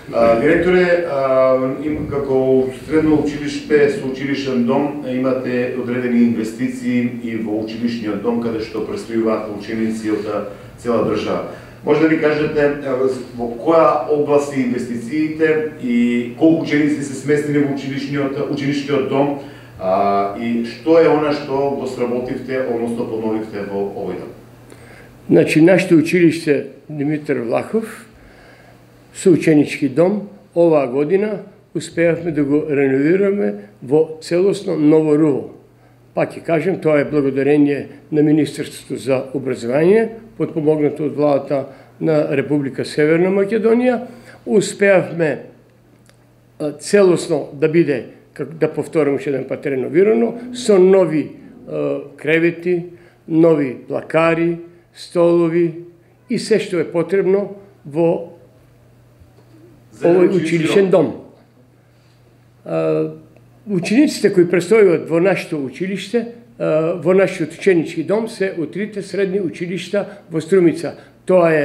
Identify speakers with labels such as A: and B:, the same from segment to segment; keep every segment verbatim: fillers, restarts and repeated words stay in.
A: Директоре, им како средно училиште со училишен дом имате одредени инвестиции и во училишниот дом каде што престојуваат ученици од цела држава. Може да ви кажете во која област се инвестициите и колку ученици се сместени во училишниот училишниот дом а, и што е она што го сработивте, односно подновивте во овој дом?
B: Значи, нашето училиште Димитар Влахов со ученички дом оваа година успеавме да го реновираме во целосно ново руво. Пак ќе кажем, тоа е благодарение на Министерството за образование, подпомогнато од владата на Република Северна Македонија. Успеавме целосно да биде, да повторам уште еден пат, реновирано, со нови е, кревети, нови плакари, столови и се што е потребно во овој училишен дом. Учениците кои престојуваат во нашето училиште, во нашиот ученички дом, се од трите средни училишта во Струмица. Тоа е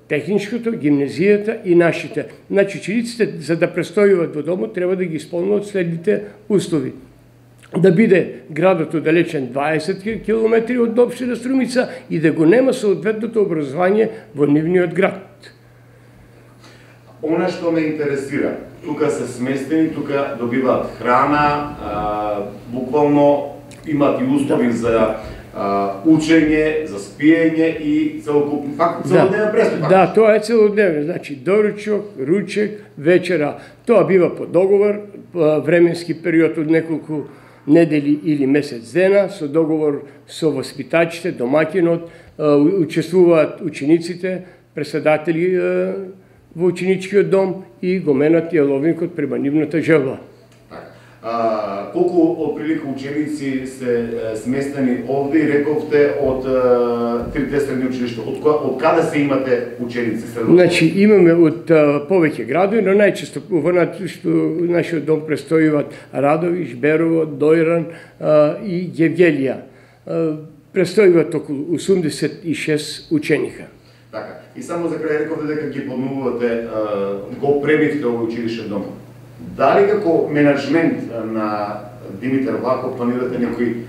B: техничкото, гимназијата и нашите. Значи, учениците, за да престојуваат во домот, треба да ги исполнуваат следните услови. Да биде градот оддалечен дваесет километри од општина Струмица и да го нема соодветното образование во нивниот град.
A: Она што ме интересира, тука се сместени, тука добиваат храна, а, буквално имаат и услови за а, учење, за спиење и целокупно, факт, целодневен престој.
B: Да, тоа е целодневен, значи доручок, ручек, вечера. Тоа бива по договор, временски период од неколку недели или месец дена, со договор со воспитачите, домаќинот, учествуваат учениците, преседатели во ученичкиот дом и го менат јаловникот према нивната желба.
A: А, колку отприлика ученици се сместени овде и рековте од трите средни училишта? Од, од каде се имате ученици?
B: Значи, имаме од повеќе градови, но најчесто во нашиот дом престојуваат Радовиш, Берово, Дојран а, и Гевгелија. Престојуваат околу осумдесет и шест ученика.
A: Така. И само за крај рековте дека ги подновувате, го премивте овој училишен дом. Дали како менеджмент на Димитар Влахов планирате некои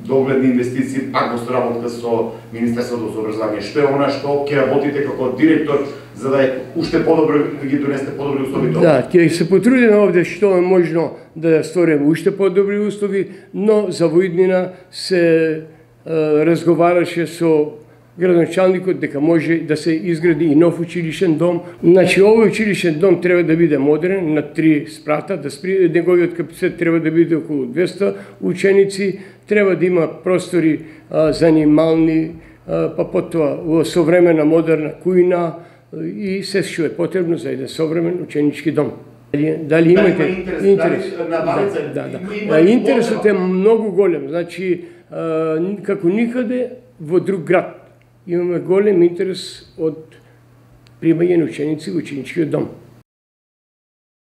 A: догледни инвестиции, пак во соработка со Министерството за образование? Што е она што ќе работите како директор за да уште подобро да ги донесете подобри услови?
B: Да, ќе се потрудиме овде што е можно да створиме уште подобри услови, но за во иднина се е, разговараше со градоначалникот дека може да се изгради и нов училишен дом. Значи, овој училишен дом треба да биде модерен, на три спрата, да спри, неговиот капацитет треба да биде околу двеста ученици, треба да има простори а, занимални, а, па потоа современа модерна кујна и се што е потребно за еден современ ученички дом. Дали, дали имате
A: интерес?
B: интерес?
A: Дали, на Баница,
B: да, да,
A: има,
B: да.
A: има
B: Интересот е многу голем. Значи, а, како никаде во друг град имаме голем интерес од примање на ученици во ученичкиот дом.